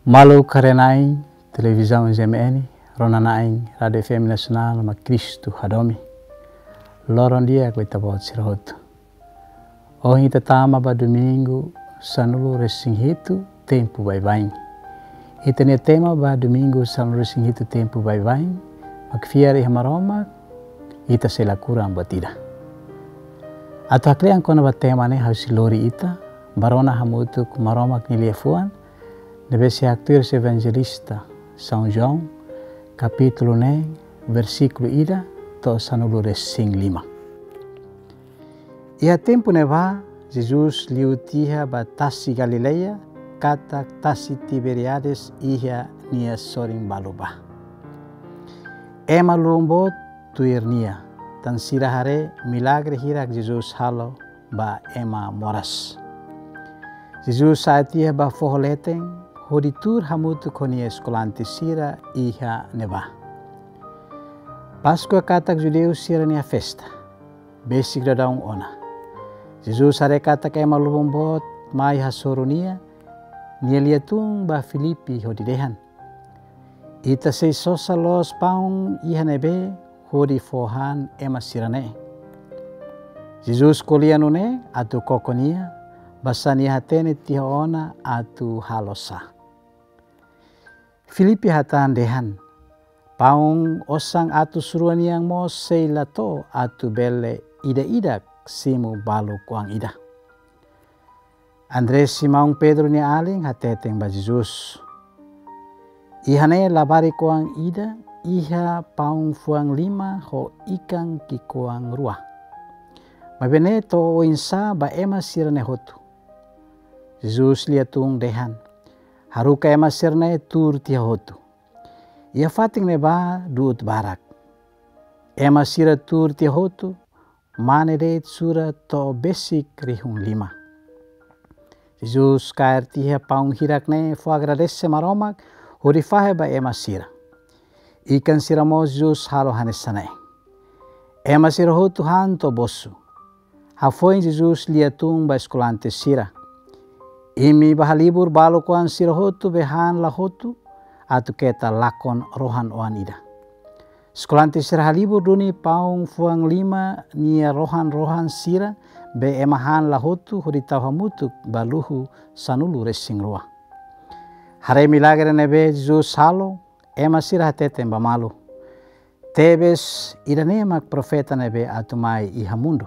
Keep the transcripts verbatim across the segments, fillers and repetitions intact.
Maluk haree-na'in televizaun G M N, rona-na'in Rádiu F M Nasionál, mak Kristu Hadomi. Loron di'ak ba ita-boot sira hotu. Ohin ita tama ba domingu sanulu-resin-hitu tempu baibain. Ita-nia tema ba domingu sanulu-resin-hitu tempu baibain mak fiar iha Maromak, ita sei la kurang buat ida. Atu haklean kona-ba tema ne'e, ha'u sei lori ita ba rona hamutuk Maromak nia liafuan ne'ebé sei haktuir husi evanjelista São João, kapítulu neen, versíkulu ida to'o sanulu-resin-lima. Iha tempu ne'ebá, Jesus liu tiha ba tasi Galileia, katak tasi Tiberíades iha nia sorin balu bá. Ema lubun boot tuir nia, tan sira haree milagre hirak Jesus halo ba ema moras. Jesus sa'e tiha ba foho leten, hodi tuur hamutuk ho nia eskolante sira iha ne'ebá. Páskua katak judeu sira-nia festa, besik daudaun ona. Jesus haree katak ema lubun boot mai hasoru nia, nia liatun ba Filipe hodi dehan: "Ita sei sosa loos paun iha ne'ebé hodi fó han ema sira-ne'e?" Jesus ko'alia nune'e atu koko nia, basá nia hatene tiha ona atu halo sá. Filipe hatán dehan: "Paun osan atus rua nian mós sei la to'o atu bele ida-idak simu balu kuang ida." André, Simão Pedro nia alin, hateten ba Jesus: "Iha ne'e labarik-oan ida iha paun fuan lima ho ikan ki'ikoan rua. Maibé ne'e to'o oinsá ba ema sira-ne'e hotu?" Jesus liatun dehan: "Haruka ema sira-ne'e tuur tiha hotu." Iha fatin ne'ebá du'ut barak. Ema sira tuur tiha hotu, mane de'it sura to'o besik rihun lima. Jesus kaer tiha paun hirak ne'e fó agradese Maromak, hodi fahe ba ema sira. Ikan sira mós Jesus halo hanesan ne'e. Ema sira hotu han to'o bosu. Hafoin Jesus liatun ba eskolante sira: "Imi bá halibur balu kuan sira hotu be han la hotu, atu keta lakon rohan-oan ida." Eskolante sira halibur duni paun fuan lima nia rohan-rohan sira be ema han la hotu, hodi tau hamutuk ba luhu sanulu-resin-rua. Haree milagre ne'ebé Jesus halo, ema sira hateten ba malu: "Tebes ida-ne'e mak profeta ne'ebé atu mai iha mundu."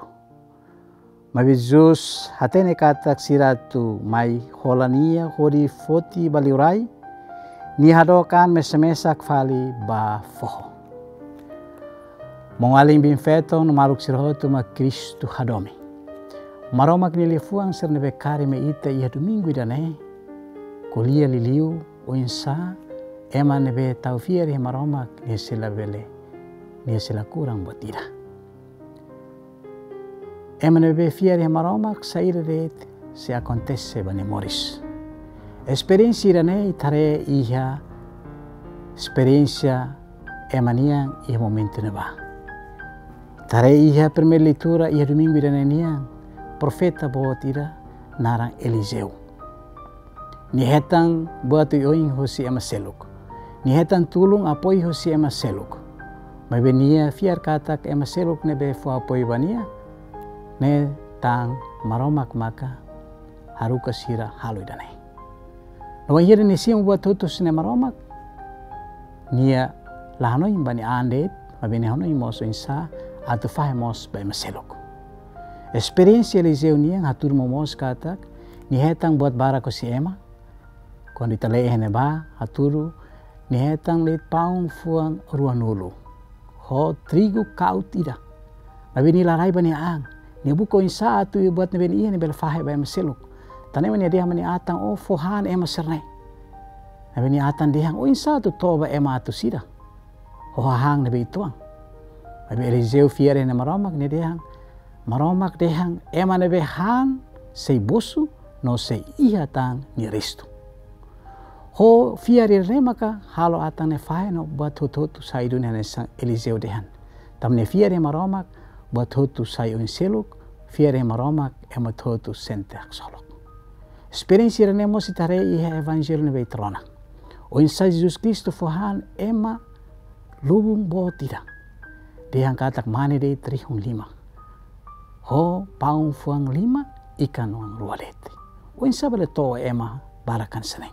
Maibé Jesus hatene katak sira atu mai hola nia hodi foti ba liurai, nia hadook an mesak-mesak fali ba foho. Maun-alin biin-feton no maluk sira hotu mak Kristu Hadomi. Maromak nia liafuan sira ne'ebé kaer mai ita iha domingu ida-ne'e ko'alia liuliu oinsá ema ne'ebé tau fiar iha Maromak nia sei la bele, nia sei la kurang buat ida. Ema ne'ebé fiar iha Maromak, saida de'it sei akontese ba nia moris. Esperiénsia ida-ne'e ita haree iha esperiénsia ema nian iha momentu ne'ebá. Ita haree iha primeira leitura iha domingu ida-ne'e nian, profeta boot ida naran Eliseu. Nia hetan buat oioin husi ema seluk. Nia hetan tulun apoiu husi ema seluk. Maibé nia fiar katak ema seluk ne'ebé fó apoiu ba nia ne'e tan Maromak maka haruka sira halo ida-ne'e. No wainhira nia simu buat hotu husi Nai Maromak, nia la hanoin ba nia an de'it, maibé nia hanoin mós oinsá atu fahe mós ba ema seluk. Esperiénsia Eliseu nian hatudu momoos katak nia hetan buat barak husi ema. Kuandu ita lee iha ne'ebá, hatudu nia hetan de'it paun fuan ruanulu ho trigu kaut ida. Maibé nia la rai ba nia an. Nia buka oinsá atu buat ne'ebé nia iha ne'e bele fahe ba ema seluk. Tan ne'e mak nia dehan ba nia atan: "Ó fó han ema sira-ne'e." Maibé nia atan dehan: "Oinsá atu to'o ba ema atus ida ho hahán ne'ebé uitoan?" Maibé Eliseu fiar iha Nai Maromak, nia dehan: "Maromak dehan ema ne'ebé han sei bosu no sei iha tan nia restu." Ho fiar ida-ne'e maka halo atan ne'e fahe no buat hotu-hotu sai duni hanesan Eliseu dehan. Tanba nia fiar iha Maromak, buat hotu sai oin seluk, fiar iha Maromak, ema hotu sente haksolok. Esperiénsia ida-ne'e mós ita haree iha Evanjellu ne'ebé ita rona. Oinsá Jesus Kristu fó han ema lubun boot ida. Dehan katak mane de'it rihun lima. Ho paun fuan lima, ikan oan rua de'it. Oinsá bele to'o ema barak hanesan ne'e?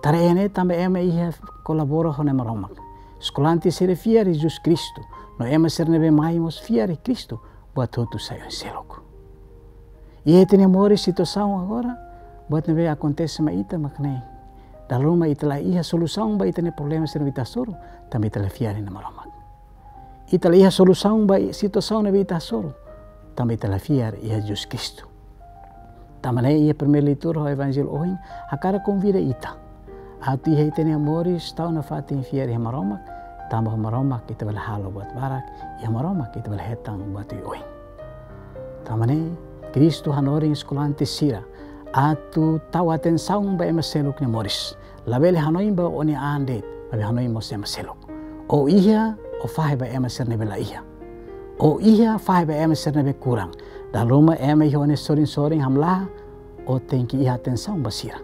Tara iha ne'e tanba ema iha kolabora ho Na'i Maromak. Eskolante sira fiar Jesus Kristu. No ema sira ne'ebé mai mós fiar Kristu. Buat hotu sai oin-seluk. Iha ita-nia moris situasaun agora, buat ne'ebé akontese mai ita mak ne'e. Dala ruma ita la iha solusaun ba ita-nia problema sira ne'ebé ita hasoru, tanba ita la fiar iha Na'i Maromak. Ita la iha solusaun ba situasaun ne'ebé ita hasoru, tanba ita la fiar iha Jesus Kristu. Tanba ne'e iha primeira leitura ho Evanjellu ohin, hakarak konvida ita atu iha ita-nia moris tau nafatin fiar iha Maromak, tanba ho Maromak ita bele halo buat barak, iha Maromak ita bele hetan buat oioin. Tanba ne'e Kristu hanorin eskolante sira atu tau atensaun ba ema seluk nia moris. Labele hanoin ba ó-nia an de'it, maibé hanoin mós ema seluk. Ó iha, ó fahe ba ema sira ne'ebé la iha. Ó iha, fahe ba ema sira ne'ebé kurang. Dala ruma ema iha ó-nia sorin-sorin hamlaha, ó tenke iha atensaun ba sira.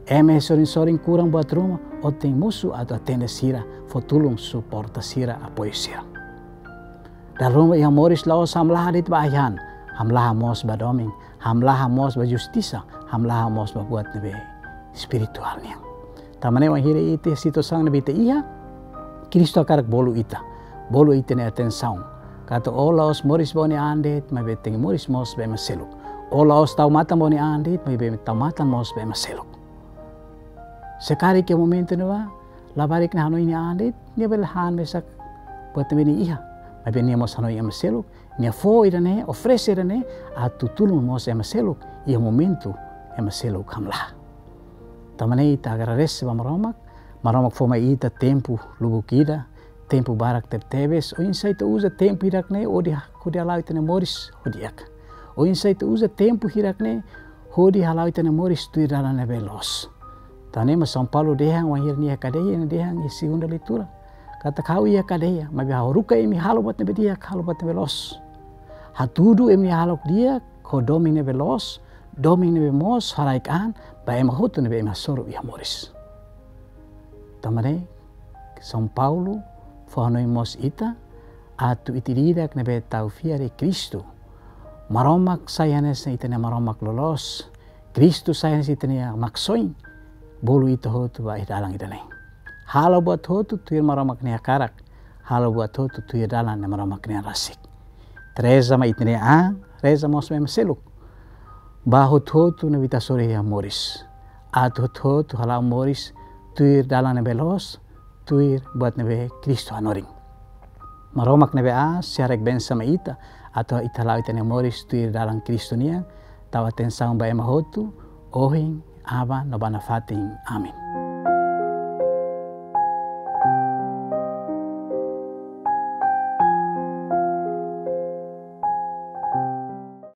Ema iha sorin-sorin kurang buat ruma, ó tenke mosu atu atende sira, fó tulun, suporta sira, apoiu sira. Dala ruma iha moris la'ós hamlaha de'it ba ai-han, hamlaha mós ba domin, hamlaha mós ba justisa, hamlaha mós ba buat ne'ebé espirituál nian. Tanba ne'e wainhira ita situasaun ne'ebé ita iha, Kristu hakarak bolu ita, bolu ita-nia atensaun. Katak ó la'ós moris ba ó-nia an de'it, maibé tenke moris mós ba ema seluk. Ó la'ós tau matan ba ó-nia an de'it, maibé tau matan mós ba ema seluk. Se karik iha momentu ne'ebá, labarik nia hanoin nia an de'it, nia bele han mesak buat ne'ebé nia iha. Maibé nia mós hanoin ema seluk, nia fó ida-ne'e, oferese ida-ne'e, atu tulun mós ema seluk, iha momentu ema seluk hamlaha. Tanba ne'e ita agradese ba Maromak, Maromak fó mai ita tempu lubuk ida, tempu barak tebetebes, oinsá ita uza tempu hirak-ne'e hodi, hodi hala'o ita-nia moris ho di'ak. Oinsá ita uza tempu hirak-ne'e hodi hala'o ita-nia moris tuir dalan ne'ebé loos. Tanba ne'e mak São Paulo dehan wainhira nia iha kadeia, nia dehan iha segunda leitura. Katak ha'u iha kadeia, maibé ha'u haruka imi halo buat ne'ebé di'ak, halo buat ne'ebé loos. Hatudu imi-nia hahalok di'ak ho domin ne'ebé loos, domin ne'ebé moos, haraik an ba ema hotu ne'ebé imi hasoru iha moris. Tanba ne'e, São Paulo fó hanoin mós ita, atu ita ida-idak ne'ebé tau fiar iha Kristu. Maromak sai hanesan ita-nia Maromak loloos, Kristu sai hanesan ita-nia Maksoin, bolu ita hotu ba iha dalan ida-ne'e. Halo buat hotu tuir Maromak nia hakarak, halo buat hotu tuir dalan ne'e Maromak nia rasik. Reza mai ita-nia an, reza mós mai ema seluk. Ba hotu-hotu ne'ebé ita hasoru iha moris. Atu hotu-hotu hala'o moris tuir dalan ne'ebé loos, tuir buat ne'ebé Kristu hanorin. Maromak ne'ebé aas, sei haraik bensa mai ita, atu ita hala'o ita-nia moris tuir dalan Kristu nian, tau atensaun ba ema hotu, ohin, aban, no ba nafatin. Amen.